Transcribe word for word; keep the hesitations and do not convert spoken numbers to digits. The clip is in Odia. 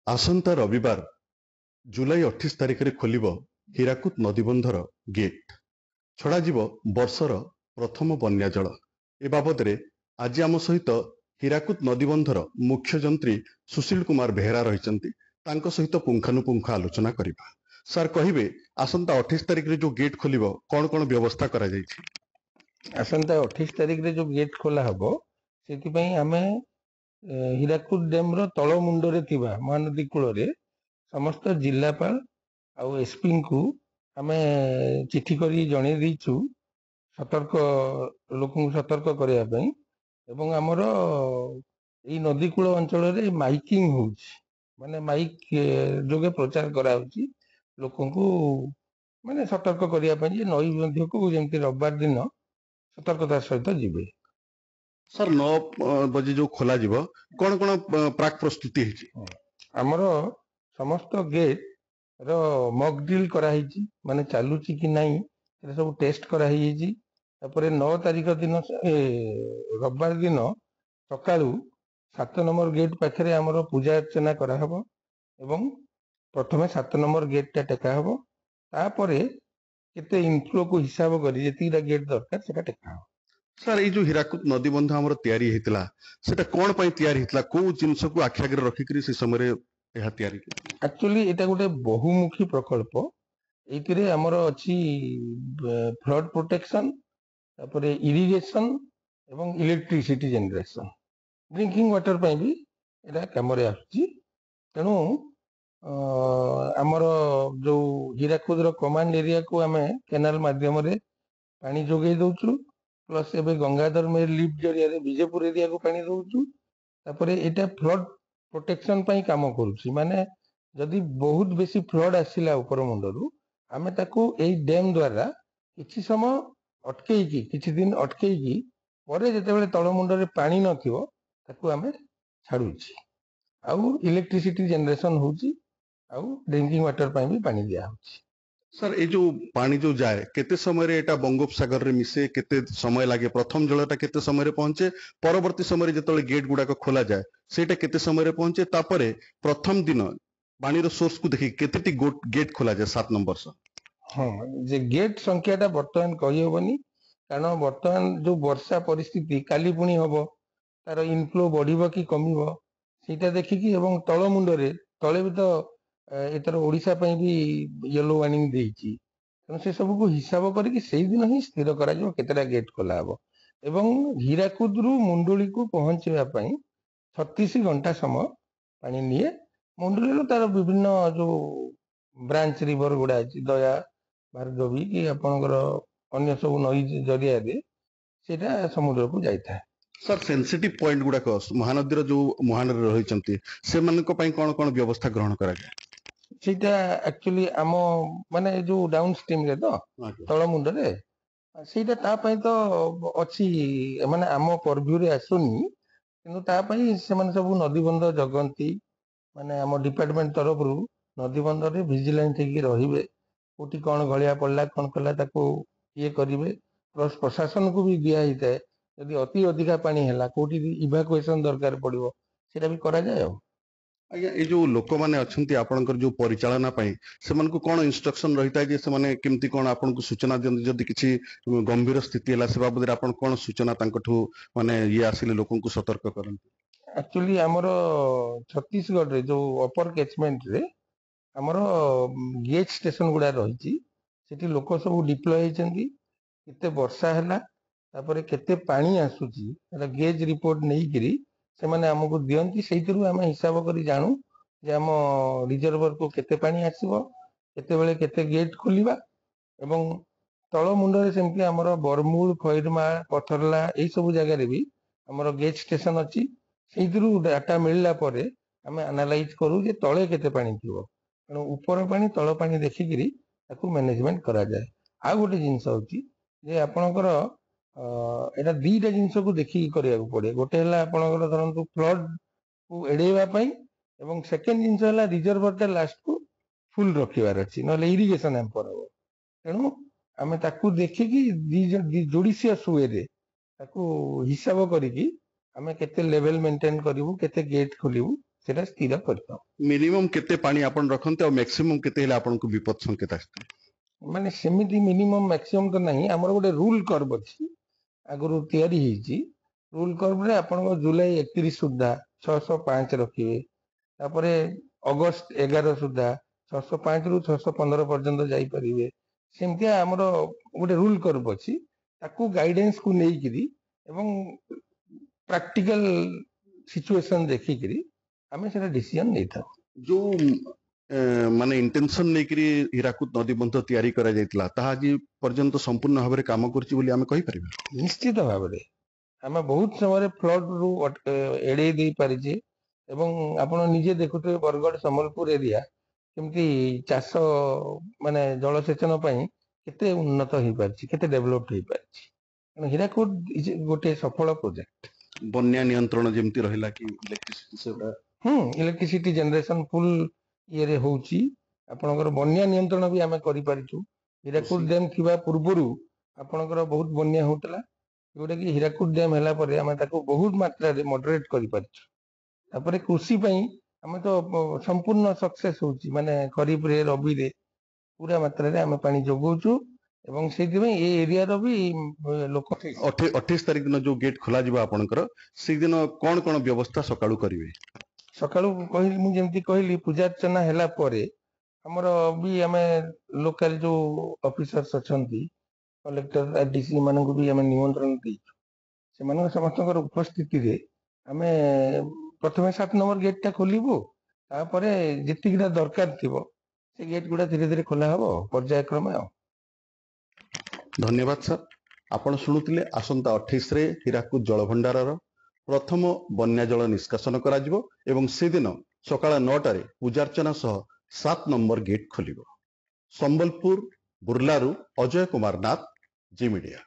ଆସନ୍ତା ରବିବାର ଜୁଲାଇ ଅଠେଇଶ ତାରିଖରେ ଖୋଲିବ ହୀରାକୁଦ ନଦୀବନ୍ଧର ଗେଟ୍ ଛଡ଼ାଯିବ ବର୍ଷର ପ୍ରଥମ ବନ୍ୟା ଜଳ ଏ ବାବଦରେ ଆଜି ଆମ ସହିତ ହୀରାକୁଦ ନଦୀବନ୍ଧର ମୁଖ୍ୟ ଯନ୍ତ୍ରୀ ସୁଶୀଲ କୁମାର ବେହେରା ରହିଛନ୍ତି ତାଙ୍କ ସହିତ ପୁଙ୍ଖାନୁପୁଙ୍ଖ ଆଲୋଚନା କରିବା ସାର୍ କହିବେ ଆସନ୍ତା ଅଠେଇଶ ତାରିଖରେ ଯୋଉ ଗେଟ୍ ଖୋଲିବ କଣ କଣ ବ୍ୟବସ୍ଥା କରାଯାଇଛି ଆସନ୍ତା ଅଠେଇଶ ତାରିଖରେ ଯୋଉ ଗେଟ୍ ଖୋଲା ହବ ସେଥିପାଇଁ ଆମେ ଏ, ହୀରାକୁଦ ଡ୍ୟାମ ର ତଳ ମୁଣ୍ଡରେ ଥିବା ମହାନଦୀ କୂଳରେ ସମସ୍ତ ଜିଲ୍ଲାପାଳ ଆଉ ଏସପିଙ୍କୁ ଆମେ ଚିଠି କରି ଜଣେଇ ଦେଇଛୁ ସତର୍କ ଲୋକଙ୍କୁ ସତର୍କ କରିବା ପାଇଁ ଏବଂ ଆମର ଏଇ ନଦୀ କୂଳ ଅଞ୍ଚଳରେ ମାଇକିଂ ହଉଛି ମାନେ ମାଇକ୍ ଯୋଗେ ପ୍ରଚାର କରାହଉଛି ଲୋକଙ୍କୁ ମାନେ ସତର୍କ କରିବା ପାଇଁ ଯେ ନଈ ମଧ୍ୟକୁ ଯେମିତି ରବିବାର ଦିନ ସତର୍କତା ସହିତ ଯିବେ ସାର୍ ନଅ ଅ, ବଜେ ଯୋଉ ଖୋଲାଯିବ କଣ କଣ ଅ, ପ୍ରାକ୍ ପ୍ରସ୍ତୁତି ହେଇଛି ଆମର ସମସ୍ତ ଗେଟ୍ ର ମକ୍ ଡ୍ରିଲ୍ କରାହେଇଛି ମାନେ ଚାଲୁଛି କି ନାହିଁ ସେଟା ସବୁ ଟେଷ୍ଟ କରାହେଇଯାଇଛି ତାପରେ ନଅ ତାରିଖ ଦିନ ଏ, ରବିବାର ଦିନ ସକାଳୁ ସାତ ନମ୍ବର ଗେଟ୍ ପାଖରେ ଆମର ପୂଜା ଅର୍ଚ୍ଚନା କରାହବ ଏବଂ ପ୍ରଥମେ ସାତ ନମ୍ବର ଗେଟ୍ ଟା ଟେକା ହବ ତାପରେ କେତେ ଇନଫ୍ଲୋ କୁ ହିସାବ କରି ଯେତିକିଟା ଗେଟ୍ ଦରକାର ସେଟା ଟେକା ହବ ସାର୍ ଏଇ ଯୋଉ ହୀରାକୁଦ ନଦୀବନ୍ଧ ଆମର ତିଆରି ହେଇଥିଲା ସେଟା କଣ ପାଇଁ ତିଆରି ହେଇଥିଲା କୋଉ ଜିନିଷକୁ ଆଖି ଆଗରେ ରଖିକିରି ସେ ସମୟରେ ଏହା ତିଆରି ହେଇଥିଲା? ଆକ୍ଚୁଆଲି ଏଇଟା ଗୋଟେ ବହୁମୁଖୀ ପ୍ରକଳ୍ପ ଏଇଥିରେ ଆମର ଅଛି ଫ୍ଲଡ ପ୍ରୋଟେକ୍ସନ ତାପରେ ଇରିଗେସନ ଏବଂ ଇଲେକ୍ଟ୍ରିସିଟି ଜେନେରେସନ ଡ୍ରିଙ୍କିଂ ୱାଟର ପାଇଁ ବି ଏଇଟା କାମରେ ଆସୁଛି ତେଣୁ ଅ, ଆମର ଯୋଉ ହୀରାକୁଦର କମାଣ୍ଡ ଏରିଆକୁ ଆମେ କେନାଲ ମାଧ୍ୟମରେ ପାଣି ଯୋଗେଇ ଦଉଛୁ ପ୍ଲସ୍ ଏବେ ଗଙ୍ଗାଧର ମେହେର ଲିଫ୍ଟ ଜରିଆରେ ବିଜେପୁର ଏରିଆକୁ ପାଣି ଦଉଛୁ ତାପରେ ଏଇଟା ଫ୍ଲଡ ପ୍ରୋଟେକ୍ସନ ପାଇଁ କାମ କରୁଛି ମାନେ ଯଦି ବହୁତ ବେଶୀ ଫ୍ଲଡ ଆସିଲା ଉପର ମୁଣ୍ଡରୁ ଆମେ ତାକୁ ଏଇ ଡ୍ୟାମ ଦ୍ଵାରା କିଛି ସମୟ ଅଟକେଇକି କିଛି ଦିନ ଅଟକେଇକି ପରେ ଯେତେବେଳେ ତଳ ମୁଣ୍ଡରେ ପାଣି ନଥିବ ତାକୁ ଆମେ ଛାଡୁଛି ଆଉ ଇଲେକ୍ଟ୍ରିସିଟି ଜେନେରେସନ ହଉଛି ଆଉ ଡ୍ରିଙ୍କିଂ ୱାଟର ପାଇଁ ବି ପାଣି ଦିଆହଉଛି ସାର୍ ଏଇ ଯୋଉ ପାଣି ଯୋଉ ଯାଏ କେତେ ସମୟରେ ଏଇଟା ବଙ୍ଗୋପସାଗରରେ ମିଶେ କେତେ ସମୟ ଲାଗେ ପ୍ରଥମ ଜଳଟା କେତେ ସମୟରେ ପହଞ୍ଚେ ପରବର୍ତ୍ତୀ ସମୟରେ ଯେତେବେଳେ ଗେଟ୍ ଗୁଡାକ ଖୋଲାଯାଏ ସେଇଟା କେତେ ସମୟରେ ପହଞ୍ଚେ ତାପରେ ପ୍ରଥମ ଦିନ ପାଣିର ସୋର୍ସକୁ ଦେଖିକି କେତେଟି ଗେଟ୍ ଖୋଲାଯାଏ ସାତ ନମ୍ବର ସହ ହଁ ଯେ ଗେଟ୍ ସଂଖ୍ୟାଟା ବର୍ତ୍ତମାନ କହିହବନି କାରଣ ବର୍ତ୍ତମାନ ଯୋଉ ବର୍ଷା ପରିସ୍ଥିତି କାଲି ପୁଣି ହବ ତାର ଇନଫ୍ଲୋ ବଢିବ କି କମିବ ସେଇଟା ଦେଖିକି ଏବଂ ତଳ ମୁଣ୍ଡରେ ତଳେ ବି ତ ଏ, ଏଥର ଓଡିଶା ପାଇଁ ବି ୟେଲୋ ୱାର୍ଣ୍ଣିଂ ଦେଇଛି ତେଣୁ ସେ ସବୁକୁ ହିସାବ କରିକି ସେଇଦିନ ହିଁ ସ୍ଥିର କରାଯିବ କେତେଟା ଗେଟ୍ ଖୋଲା ହବ ଏବଂ ହୀରାକୁଦରୁ ମୁଣ୍ଡୁଳିକୁ ପହଞ୍ଚିବା ପାଇଁ ଛତିଶ ଘଣ୍ଟା ସମୟ ପାଣି ନିଏ ମୁଣ୍ଡୁଳିରୁ ତାର ବିଭିନ୍ନ ଯୋଉ ବ୍ରାଞ୍ଚ ରିଭର ଗୁଡା ଅଛି ଦୟା ଭାର୍ଗବୀ କି ଆପଣଙ୍କର ଅନ୍ୟ ସବୁ ନଈ ଜରିଆରେ ସେଇଟା ସମୁଦ୍ରକୁ ଯାଇଥାଏ ସାର୍ ସେନ୍ସିଟିଭ ପଏଣ୍ଟ ଗୁଡାକ ମହାନଦୀର ଯୋଉ ମୁହାଣରେ ରହିଛନ୍ତି ସେମାନଙ୍କ ପାଇଁ କଣ କଣ ବ୍ୟବସ୍ଥା ଗ୍ରହଣ କରାଯାଏ ସେଇଟା ଆକ୍ଚୁଆଲି ଆମ ମାନେ ଏ ଯୋଉ ଡାଉନ ଷ୍ଟ୍ରିମରେ ତ ତଳ ମୁଣ୍ଡରେ ସେଇଟା ତା ପାଇଁ ତ ଅଛି ମାନେ ଆମ ପରଭ୍ୟୁରେ ଆସୁନି କିନ୍ତୁ ତା ପାଇଁ ସେମାନେ ସବୁ ନଦୀବନ୍ଧ ଜଗନ୍ତି ମାନେ ଆମ ଡିପାର୍ଟମେଣ୍ଟ ତରଫରୁ ନଦୀବନ୍ଧରେ ଭିଜିଲାନ୍ସ ହେଇକି ରହିବେ କୋଉଠି କଣ ଗଳିଆ ପଡିଲା କଣ କଲା ତାକୁ ଇଏ କରିବେ ପ୍ଲସ ପ୍ରଶାସନକୁ ବି ଦିଆ ହେଇଥାଏ ଯଦି ଅତି ଅଧିକା ପାଣି ହେଲା କୋଉଠି ଇଭାକୁଏସନ ଦରକାର ପଡିବ ସେଇଟା ବି କରାଯାଏ ଆଉ ଆଜ୍ଞା ଏଇ ଯୋଉ ଲୋକମାନେ ଅଛନ୍ତି ଆପଣଙ୍କର ଯୋଉ ପରିଚାଳନା ପାଇଁ ସେମାନଙ୍କୁ କଣ ଇନଷ୍ଟ୍ରକ୍ସନ ରହିଥାଏ ଯେ ସେମାନେ କେମିତି କଣ ଆପଣଙ୍କୁ ସୂଚନା ଦିଅନ୍ତି ଯଦି କିଛି ଗମ୍ଭୀର ସ୍ଥିତି ହେଲା ସେ ବାବଦରେ ଆପଣ କଣ ସୂଚନା ତାଙ୍କଠୁ ମାନେ ଇଏ ଆସିଲେ ଲୋକଙ୍କୁ ସତର୍କ କରନ୍ତି ଆକ୍ଚୁଆଲି ଆମର ଛତିଶଗଡରେ ଯୋଉ ଅପର କ୍ୟାଚମେଣ୍ଟରେ ଆମର ଗେଜ୍ ଷ୍ଟେସନ ଗୁଡା ରହିଛି ସେଠି ଲୋକ ସବୁ ଡିପ୍ଲୟ ହେଇଛନ୍ତି କେତେ ବର୍ଷା ହେଲା ତାପରେ କେତେ ପାଣି ଆସୁଛି ସେଟା ଗେଜ୍ ରିପୋର୍ଟ ନେଇକିରି ସେମାନେ ଆମକୁ ଦିଅନ୍ତି ସେଇଥିରୁ ଆମେ ହିସାବ କରି ଜାଣୁ ଯେ ଆମ ରିଜର୍ଭରକୁ କେତେ ପାଣି ଆସିବ କେତେବେଳେ କେତେ ଗେଟ୍ ଖୋଲିବା ଏବଂ ତଳ ମୁଣ୍ଡରେ ସେମିତି ଆମର ବରମୁଳ ଖଇରମାଳ ପଥରଲା ଏଇ ସବୁ ଜାଗାରେ ବି ଆମର ଗେଜ୍ ଷ୍ଟେସନ ଅଛି ସେଇଥିରୁ ଡାଟା ମିଳିଲା ପରେ ଆମେ ଆନାଲାଇଜ କରୁ ଯେ ତଳେ କେତେ ପାଣି ଥିବ ତେଣୁ ଉପର ପାଣି ତଳ ପାଣି ଦେଖିକିରି ତାକୁ ମ୍ୟାନେଜମେଣ୍ଟ କରାଯାଏ ଆଉ ଗୋଟେ ଜିନିଷ ହଉଛି ଯେ ଆପଣଙ୍କର ଅ, ଏଇଟା ଦିଟା ଜିନିଷକୁ ଦେଖିକି କରିବାକୁ ପଡେ ଗୋଟେ ହେଲା ଆପଣଙ୍କର ଧରନ୍ତୁ ଫ୍ଲଡ କୁ ଏଡେଇବା ପାଇଁ ଏବଂ ସେକେଣ୍ଡ ଜିନିଷ ହେଲା ରିଜର୍ଭର ଟା ଲାଷ୍ଟକୁ ଫୁଲ ରଖିବାର ଅଛି ନହେଲେ ଇରିଗେସନ ହ୍ୟାମ୍ପର ହବ ତେଣୁ ଆମେ ତାକୁ ଦେଖିକି ଜୁଡିସିୟସ ୱେରେ ତାକୁ ହିସାବ କରିକି ଆମେ କେତେ ଲେଭେଲ ମେଣ୍ଟେନ କରିବୁ କେତେ ଗେଟ୍ ଖୋଲିବୁ ସେଟା ସ୍ଥିର କରିଥାଉ। ମିନିମମ୍ କେତେ ପାଣି ଆପଣ ରଖନ୍ତି ଆଉ ମ୍ୟାକ୍ସିମମ୍ କେତେ ହେଲେ ଆପଣଙ୍କୁ ବିପଦ ସଂକେତ ଆସିଥାଏ? ମାନେ ସେମିତି ମିନିମମ୍ ମ୍ୟାକ୍ସିମମ୍ ତ ନାହିଁ। ଆମର ଗୋଟେ ରୁଲ କର୍ଭ ଅଛି, ଆଗରୁ ତିଆରି ହେଇଛି। ରୁଲ କର୍ଭରେ ଆପଣଙ୍କ ଜୁଲାଇ ଏକତିରିଶ ସୁଦ୍ଧା ଛଅଶହ ପାଞ୍ଚ ରଖିବେ, ତାପରେ ଅଗଷ୍ଟ ଏଗାର ସୁଦ୍ଧା ଛଅଶହ ପାଞ୍ଚରୁ ଛଅଶହ ପନ୍ଦର ପର୍ଯ୍ୟନ୍ତ ଯାଇପାରିବେ। ସେମିତିଆ ଆମର ଗୋଟେ ରୁଲ କର୍ଭ ଅଛି, ତାକୁ ଗାଇଡେନ୍ସକୁ ନେଇକିରି ଏବଂ ପ୍ରାକ୍ଟିକାଲ ସିଚୁଏସନ ଦେଖିକିରି ଆମେ ସେଟା ଡିସିଜନ ନେଇଥାଉ। ଯୋଉ ଏ, ମାନେ ଇଣ୍ଟେନସନ ନେଇକିରି ହୀରାକୁଦ ନଦୀ ବନ୍ଧ ତିଆରି କରାଯାଇଥିଲା, ତାହା ଆଜି ପର୍ଯ୍ୟନ୍ତ ସମ୍ପୂର୍ଣ୍ଣ ଭାବରେ କାମ କରୁଛି ବୋଲି ଆମେ କହିପାରିବା? ନିଶ୍ଚିତ ଭାବରେ ଆମେ ବହୁତ ସମୟରେ ଫ୍ଲଡ ରୁ ଏଡେଇ ଦେଇ ପାରିଛେ ଏବଂ ଆପଣ ନିଜେ ଦେଖୁଥିବେ ବରଗଡ଼ ସମ୍ବଲପୁର ଏରିଆ କେମିତି ଚାଷ ମାନେ ଜଳସେଚନ ପାଇଁ କେତେ ଉନ୍ନତ ହେଇପାରିଛି, କେତେ ଡେଭଲପ ହେଇପାରିଛି। କାରଣ ହୀରାକୁଦ is ଗୋଟେ ସଫଳ ପ୍ରୋଜେକ୍ଟ। ବନ୍ୟା ନିୟନ୍ତ୍ରଣ ଯେମିତି ରହିଲା କି ଇଲେକ୍ଟ୍ରିସିଟି ସେଟା? ହୁଁ, ଇଲେକ୍ଟ୍ରିସିଟି ଜେନେରେସନ ଫୁଲ ଇଏରେ ହଉଛି। ଆପଣଙ୍କର ବନ୍ୟା ନିୟନ୍ତ୍ରଣ ବି ଆମେ କରିପାରିଛୁ। ହୀରାକୁଦ ଡ୍ୟାମ ଥିବା ପୂର୍ବରୁ ଆପଣଙ୍କର ବହୁତ ବନ୍ୟା ହଉଥିଲା, ଯୋଉଟା କି ହୀରାକୁଦ ଡ୍ୟାମ ହେଲା ପରେ ଆମେ ତାକୁ ବହୁତ ମାତ୍ରାରେ ମଡରେଟ କରିପାରିଛୁ। ତାପରେ କୃଷି ପାଇଁ ଆମେ ତ ସମ୍ପୂର୍ଣ୍ଣ ସକ୍ସେସ ହଉଛି, ମାନେ ଖରିଫରେ ରବିରେ ପୁରା ମାତ୍ରାରେ ଆମେ ପାଣି ଯୋଗଉଛୁ ଏବଂ ସେଇଥିପାଇଁ ଏ ଏରିଆର ବି ଲୋକ। ଅଠେଇଶ ତାରିଖ ଦିନ ଯୋଉ ଗେଟ୍ ଖୋଲାଯିବ ଆପଣଙ୍କର, ସେଇଦିନ କଣ କଣ ବ୍ୟବସ୍ଥା ସକାଳୁ କରିବେ? ସକାଳୁ କହିଲି, ମୁଁ ଯେମିତି କହିଲି, ପୂଜାର୍ଚ୍ଚନା ହେଲା ପରେ ଆମର ବି ଆମେ ଲୋକାଲ ଯୋଉ ଅଫିସର୍ସ ଅଛନ୍ତି, କଲେକ୍ଟର, ଆରଡିସି ମାନଙ୍କୁ ବି ଆମେ ନିମନ୍ତ୍ରଣ ଦେଇଛୁ। ସେମାନଙ୍କ ସମସ୍ତଙ୍କର ଉପସ୍ଥିତିରେ ଆମେ ପ୍ରଥମେ ସାତ ନମ୍ବର ଗେଟ୍ ଟା ଖୋଲିବୁ। ତାପରେ ଯେତିକିଟା ଦରକାର ଥିବ ସେ ଗେଟ୍ ଗୁଡା ଧୀରେ ଧୀରେ ଖୋଲା ହବ ପର୍ଯ୍ୟାୟକ୍ରମେ। ଆଉ ଧନ୍ୟବାଦ ସାର୍। ଆପଣ ଶୁଣୁଥିଲେ ଆସନ୍ତା ଅଠେଇଶରେ ହୀରାକୁଦ ଜଳଭଣ୍ଡାରର ପ୍ରଥମ ବନ୍ୟା ଜଳ ନିଷ୍କାସନ କରାଯିବ ଏବଂ ସେଦିନ ସକାଳ ନଅଟାରେ ପୂଜାର୍ଚ୍ଚନା ସହ ସାତ ନମ୍ବର ଗେଟ୍ ଖୋଲିବ। ସମ୍ବଲପୁର ବୁର୍ଲାରୁ ଅଜୟ କୁମାର ନାଥ, ଜି ମିଡିଆ।